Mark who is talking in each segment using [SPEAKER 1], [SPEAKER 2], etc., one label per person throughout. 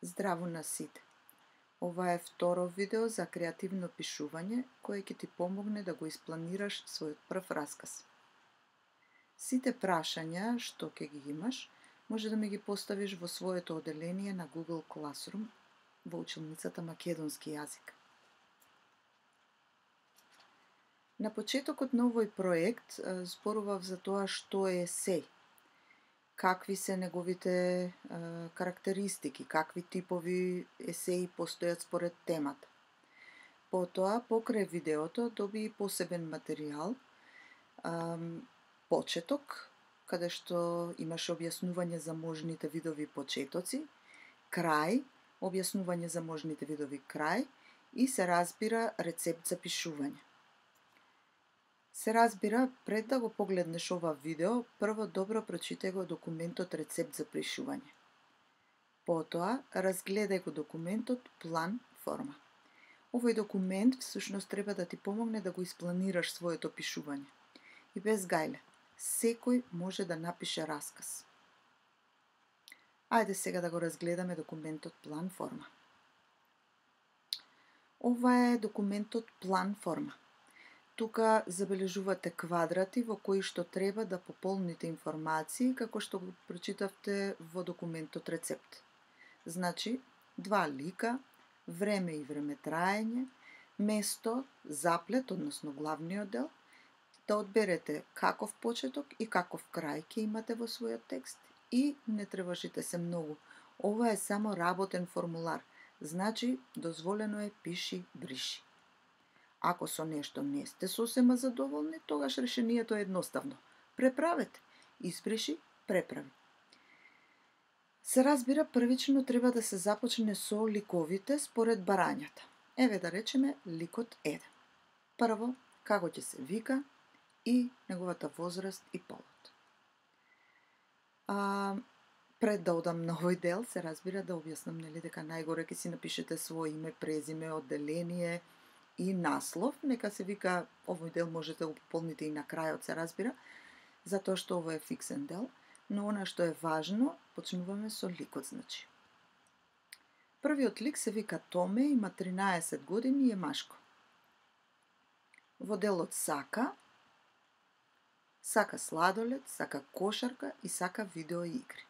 [SPEAKER 1] Здраво на сите! Ова е второ видео за креативно пишување, кое ќе ти помогне да го испланираш својот прв расказ. Сите прашања што ќе ги имаш, може да ми ги поставиш во своето оделение на Google Classroom во училницата македонски јазик. На почетокот на овој проект зборував за тоа што е есеј, какви се неговите карактеристики, какви типови есеи постојат според темата. Потоа, покрај видеото, доби и посебен материјал, почеток, каде што имаше објаснување за можните видови почетоци, крај, објаснување за можните видови крај и се разбира рецепт за пишување. Се разбира, пред да го погледнеш ова видео, прво добро прочитај го документот Рецепт за пишување. Потоа, разгледај го документот План форма. Овој документ всушност треба да ти помогне да го испланираш своето пишување. И без гајле, секој може да напише расказ. Ајде сега да го разгледаме документот План форма. Ова е документот План форма. Тука забележувате квадрати во кои што треба да пополните информации како што го прочитавте во документот Рецепт. Значи, 2 лика, време и времетраење, место, заплет, односно главниот дел, да одберете каков почеток и каков крај ќе имате во својот текст и не тревожите се многу. Ова е само работен формулар, значи дозволено е пиши, бриши. Ако со нешто не сте сосема задоволни, тогаш решението е едноставно. Преправете, избриши, преправи. Се разбира, првично треба да се започне со ликовите според барањата. Еве да речеме ликот 1. Прво, како ќе се вика и неговата возраст и полот. Пред да одам на овој дел, се разбира да објаснам дека најгоре ќе си напишете своје име, презиме, одделение и наслов. Нека се вика, овој дел можете да го пополните и на крајот, се разбира, затоа што ово е фиксен дел, но она што е важно, почнуваме со ликот, значи. Првиот лик се вика Томе, има 13 години и е машко. Во делот сака сладолед, сака кошарка и сака видеоигри.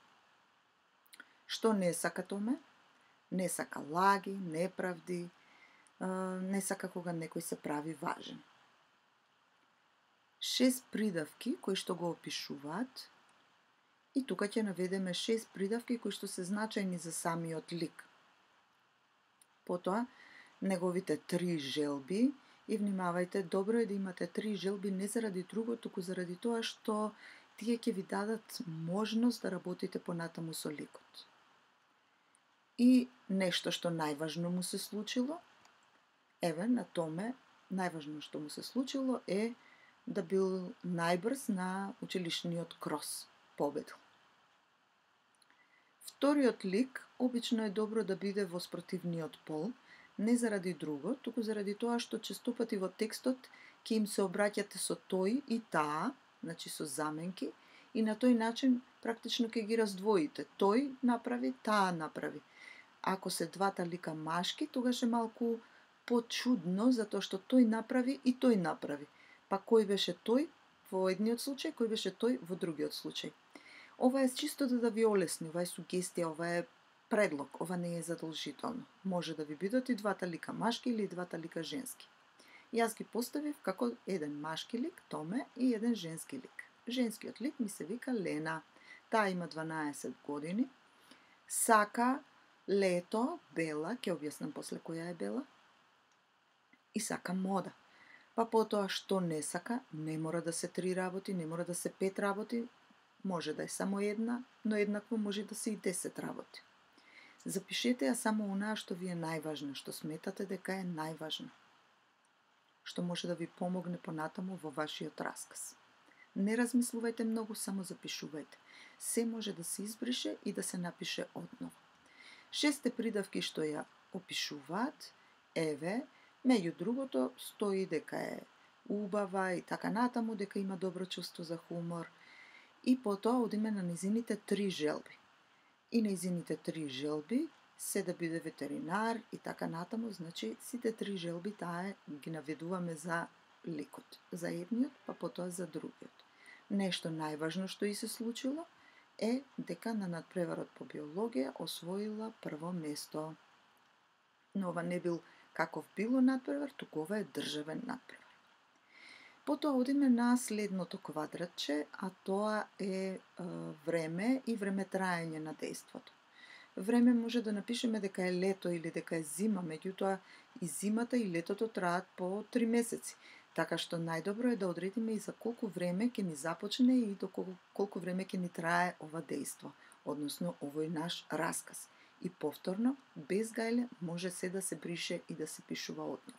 [SPEAKER 1] Што не сака Томе? Не сака лаги, неправди, не сака кога некој се прави важен. 6 придавки кои што го опишуваат, и тука ќе наведеме 6 придавки кои што се значајни за самиот лик. Потоа, неговите 3 желби, и внимавајте, добро е да имате 3 желби не заради друго, туку заради тоа што тие ќе ви дадат можност да работите понатаму со ликот. И нешто што најважно му се случило, еве, на Томе, најважно што му се случило е да бил најбрз на училишниот крос, победил. Вториот лик, обично е добро да биде во спротивниот пол, не заради друго, туку заради тоа што честопати во текстот ќе им се обраќате со тој и таа, значи со заменки, и на тој начин практично ќе ги раздвоите. Тој направи, таа направи. Ако се двата лика машки, тогаш е малку почудно, затоа што тој направи и тој направи. Па кој беше тој во едниот случај, кој беше тој во другиот случај. Ова е чисто да ви олесни, ова е сугестија, ова е предлог, ова не е задолжително. Може да ви бидат и двата лика машки или двата лика женски. Јас ги поставив како еден машки лик, Томе, и еден женски лик. Женскиот лик ми се вика Лена. Таа има 12 години. Сака лето, Бела, ќе објаснам после која е Бела. И сака мода. Па потоа што не сака, не мора да се 3 работи, не мора да се 5 работи, може да е само една, но еднакво може да се и 10 работи. Запишете ја само онаа што ви е најважно, што сметате дека е најважно, што може да ви помогне понатаму во вашиот расказ. Не размислувајте многу, само запишувајте. Се може да се избрише и да се напише одново. 6 придавки што ја опишуваат, еве, меѓу другото стои дека е убава и така натаму, дека има добро чувство за хумор. И потоа одиме на незините 3 желби. И незините 3 желби се да биде ветеринар и така натаму, значи сите три желби таа ги наведуваме за лекот, за едниот, па потоа за другиот. Нешто најважно што и се случило е дека на надпреварот по биологија освоила прво место. Но ова не бил каков било надпревар, туку ова е државен надпревар. Потоа одиме на следното квадратче, а тоа е време и времетраење на дејството. Време може да напишеме дека е лето или дека е зима, меѓутоа и зимата и летото траат по 3 месеци. Така што најдобро е да одредиме и за колку време ќе ни започне и до колку време ќе ни трае ова дејство, односно овој наш расказ. И повторно, без гајле, може се да се брише и да се пишува одново.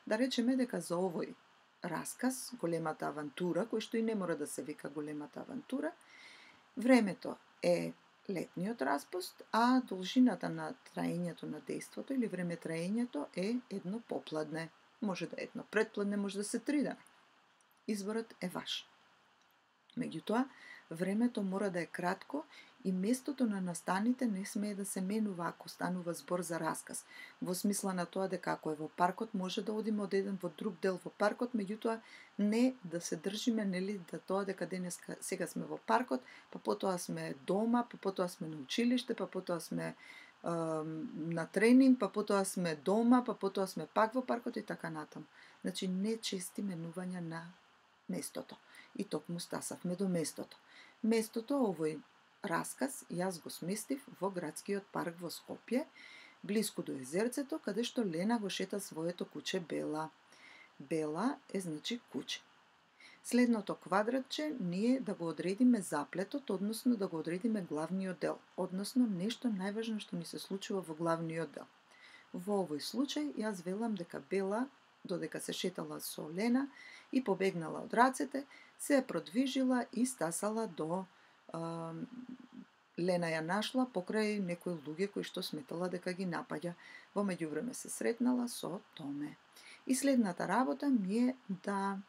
[SPEAKER 1] Да речеме дека за овој расказ, големата авантура, кој што и не мора да се вика големата авантура, времето е летниот распуст, а должината на траењето на дејството или времетраењето е едно попладне. Може да е едно предпладне, може да се 3 дена. Изборот е ваш. Меѓутоа, времето мора да е кратко и местото на настаните не смее да се менува ако станува збор за расказ. Во смисла на тоа дека ако е во паркот, може да одиме од еден во друг дел во паркот, меѓутоа не да се држиме, нели, да тоа дека денеска сега сме во паркот, па потоа сме дома, па потоа сме на училиште, па потоа сме на тренинг, па потоа сме дома, па потоа сме пак во паркот и така натаму. Значи, не чести менувања на местото. И токму стасавме до местото. Местото, овој расказ, јас го сместив во градскиот парк во Скопје, блиску до езерцето, каде што Лена го шета своето куче Бела. Бела е значи куче. Следното квадратче ние да го одредиме заплетот, односно да го одредиме главниот дел, односно нешто најважно што ни се случува во главниот дел. Во овој случај, јас велам дека Бела, додека се шетала со Лена и побегнала од рацете, се продвижила и стасала до Лена ја нашла покрај некои луѓе кои што сметала дека ги напаѓа. Во меѓувреме се сретнала со Томе. И следната работа ми е да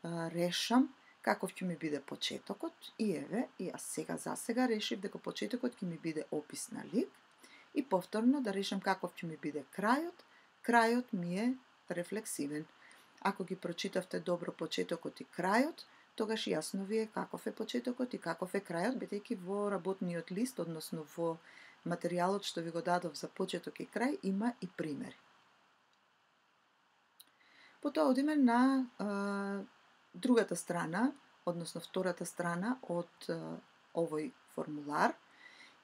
[SPEAKER 1] решам каков ќе ми биде почетокот и еве, јас сега за сега решив дека почетокот ќе ми биде опис на лик и повторно да решам каков ќе ми биде крајот. Крајот ми е рефлексивен. Ако ги прочитавте добро почетокот и крајот, тогаш јасно ви е каков е почетокот и каков е крајот, бидејќи во работниот лист, односно во материјалот што ви го дадов за почеток и крај, има и примери. Потоа одиме на другата страна, односно втората страна од овој формулар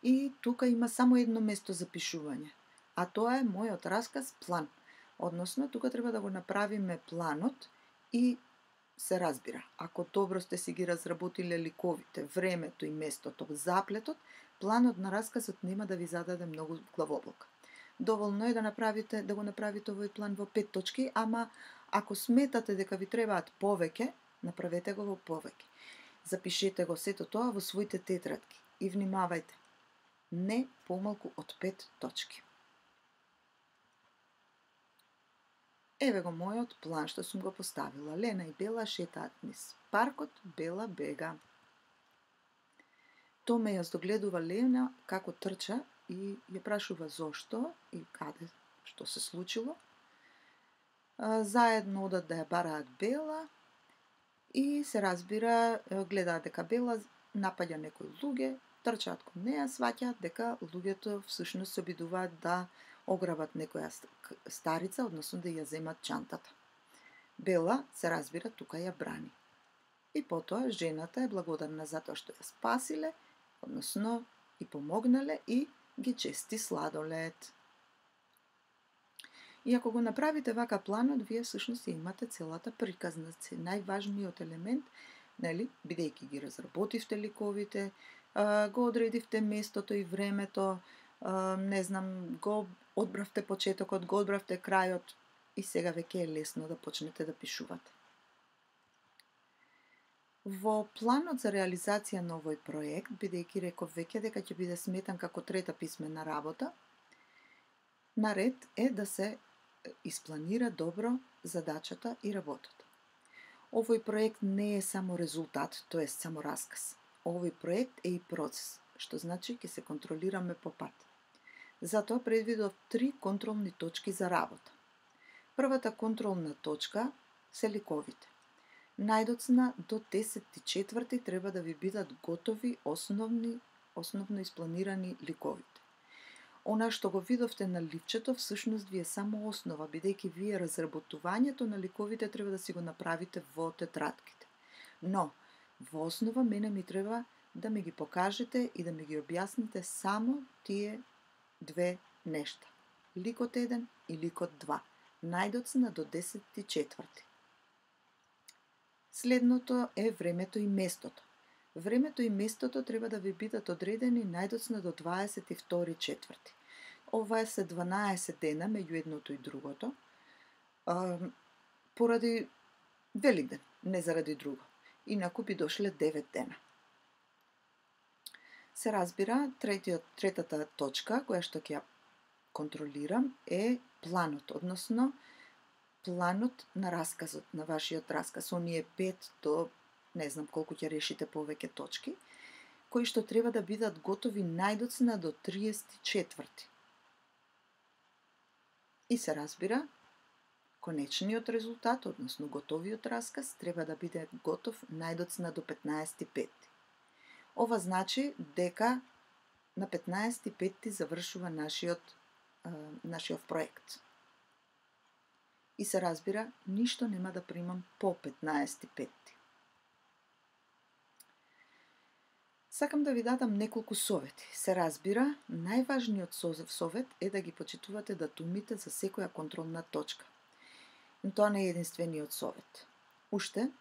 [SPEAKER 1] и тука има само едно место за пишување, а тоа е мојот расказ план. Односно, тука треба да го направиме планот и се разбира, ако добро сте си ги разработиле ликовите, времето и местото, заплетот, планот на расказот нема да ви зададе многу главоболка. Доволно е да го направите овој план во 5 точки, ама ако сметате дека ви требаат повеќе, направете го во повеќе. Запишете го сето тоа во своите тетрадки и внимавајте, не помалку од 5 точки. Еве го мојот план што сум го поставила. Лена и Бела шетаат низ паркот, Бела бега. Томе ја догледува Лена како трча и ја прашува зошто и каде, што се случило. Заедно одат да ја бараат Бела и се разбира, гледаат дека Бела напаѓа некои луѓе, трчаат кон неа, сваќаат дека луѓето всушност се обидуваат да ограбат некоја старица, односно да ја земат чантата. Бела, се разбира, тука ја брани. И потоа жената е благодарна затоа што ја спасиле, односно и помогнале и ги чести сладолед. И ако го направите вака планот, вие всушност имате целата приказна, најважниот елемент, нели, бидејќи ги разработивте ликовите, го одредивте местото и времето, не знам, го одбравте почетокот, го одбравте крајот и сега веќе е лесно да почнете да пишувате. Во планот за реализација на овој проект, бидејќи реков веќе дека ќе биде сметан како трета писмена работа, наред е да се испланира добро задачата и работата. Овој проект не е само резултат, тоа е само расказ. Овој проект е и процес, што значи ќе се контролираме по пат. Затоа предвидов 3 контролни точки за работа. Првата контролна точка се ликовите. Најдоцна до 10.4 треба да ви бидат готови основно испланирани ликовите. Она што го видовте на ливчето всушност ви е само основа, бидејќи вие разработувањето на ликовите треба да си го направите во тетратките. Но, во основа мене ми треба да ми ги покажете и да ми ги објасните само тие две нешта. Ликот 1 и ликот 2. Најдоцна до 10.4. Следното е времето и местото. Времето и местото треба да ви бидат одредени најдоцна до 22.4. Ова се 12 дена меѓу едното и другото, поради Великден, не заради друго. Инаку би дошле 9 дена. Се разбира, третата точка, која што ќе ја контролирам, е планот, односно планот на расказот, на вашиот расказ. Оние 5 до не знам колку ќе решите повеќе точки, кои што треба да бидат готови најдоцна до 34. И се разбира, конечниот резултат, односно готовиот расказ, треба да биде готов најдоцна до 15.5. Ова значи дека на 15.5 завршува нашиот проект. И се разбира, ништо нема да примам по 15.5. Сакам да ви дадам неколку совети. Се разбира, најважниот совет е да ги почитувате датумите за секоја контролна точка. Но тоа не е единствениот совет. Уште,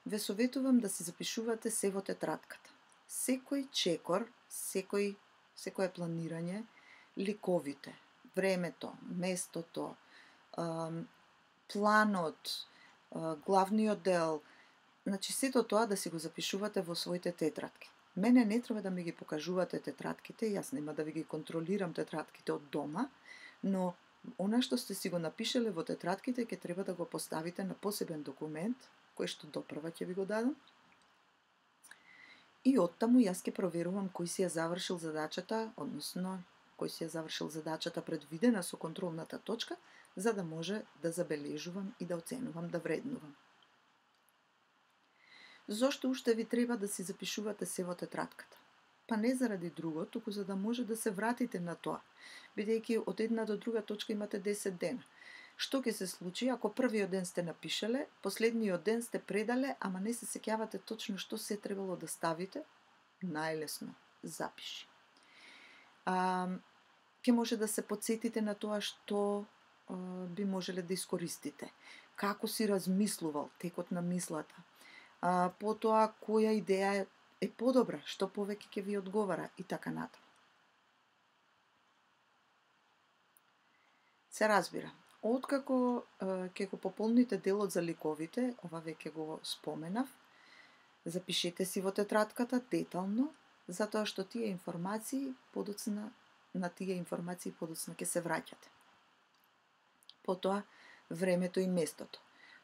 [SPEAKER 1] ве советувам да се запишувате се во тетратката. Секој чекор, секое планирање, ликовите, времето, местото, планот, главниот дел, значи сето тоа да си го запишувате во своите тетратки. Мене не треба да ми ги покажувате тетратките, јас нема да ви ги контролирам тетратките од дома, но она што сте си го напишеле во тетратките ќе треба да го поставите на посебен документ, кој што допрва ќе ви го дадам. И оттаму јас ќе проверувам кој си ја завршил задачата, односно кој си ја завршил задачата предвидена со контролната точка, за да може да забележувам и да оценувам, да вреднувам. Зошто уште ви треба да си запишувате се во тетратката? Па не заради друго, туку за да може да се вратите на тоа, бидејќи од една до друга точка имате 10 дена. Што ќе се случи ако првиот ден сте напишеле, последниот ден сте предале, ама не се сеќавате точно што се требало да ставите? Најлесно, запиши. Ќе може да се потсетите на тоа што би можеле да искористите. Како си размислувал, текот на мислата. Потоа која идеја е подобра, што повеќе ќе ви одговара и така натаму. Се разбира, откако ќе го пополните делот за ликовите, ова веќе го споменав, запишете си во тетратката детално, затоа што тие информации подоцна ќе се враќате. Потоа, времето и местото.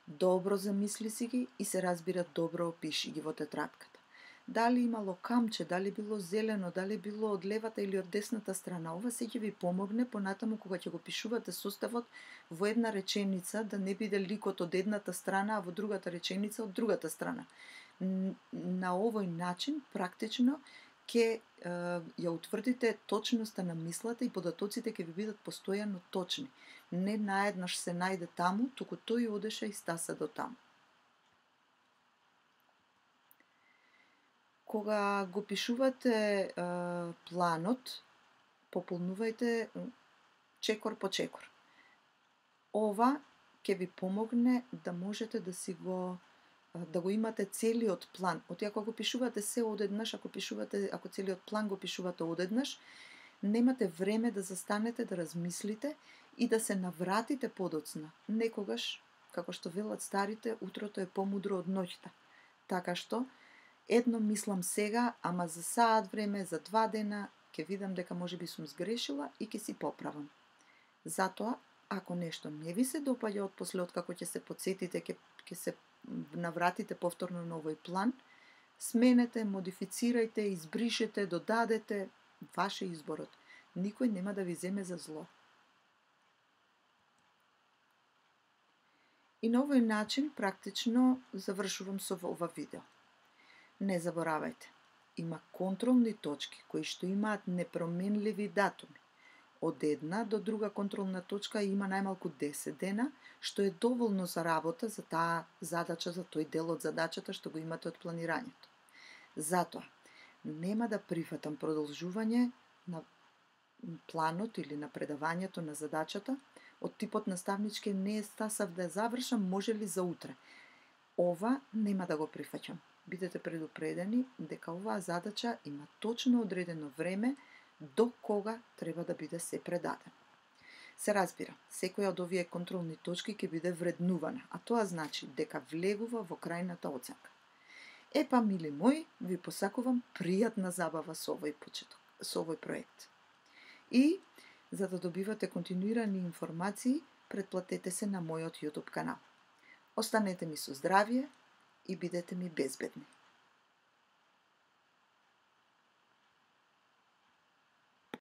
[SPEAKER 1] Добро замисли си ги и се разбира добро опиши ги во тетратката. Дали имало камче, дали било зелено, дали било од левата или од десната страна, ова се ќе ви помогне понатаму кога ќе го пишувате составот во една реченица, да не биде ликот од едната страна, а во другата реченица од другата страна. На овој начин, практично, ќе ја утврдите точноста на мислата и податоците ќе ви бидат постојано точни. Не наеднаш се најде таму, туку тој одеше и стаса до таму. Кога го пишувате планот, пополнувајте чекор по чекор. Ова ќе ви помогне да можете да го имате целиот план. Ако го пишувате се одеднаш, ако целиот план го пишувате одеднаш, немате време да застанете, да размислите и да се навратите подоцна. Некогаш, како што велат старите, утрото е помудро од ноќта. Така што, едно мислам сега, ама за саат време, за 2 дена, ќе видам дека можеби сум сгрешила и ќе си поправам. Затоа, ако нешто не ви се допаѓа отпосле, откако ќе се потсетите, ќе се навратите повторно на овој план, сменете, модифицирајте, избришете, додадете, ваш е изборот. Никој нема да ви земе за зло. И на овој начин практично завршувам со ова видео. Не заборавајте, има контролни точки кои што имаат непроменливи датуми. Од една до друга контролна точка има најмалку 10 дена, што е доволно за работа за таа задача, за тој дел од задачата што го имате од планирањето. Затоа, нема да прифатам продолжување на планот или на предавањето на задачата од типот наставнички не стасав да завршам, може ли за утре. Ова нема да го прифаќам. Бидете предупредени дека оваа задача има точно одредено време до кога треба да биде се предаден. Се разбира, секоја од овие контролни точки ќе биде вреднувана, а тоа значи дека влегува во крајната оценка. Епа, мили мои, ви посакувам пријатна забава со овој почеток, со овој проект. И, за да добивате континуирани информации, претплатете се на мојот YouTube канал. Останете ми со здравје и бидете ми безбедни.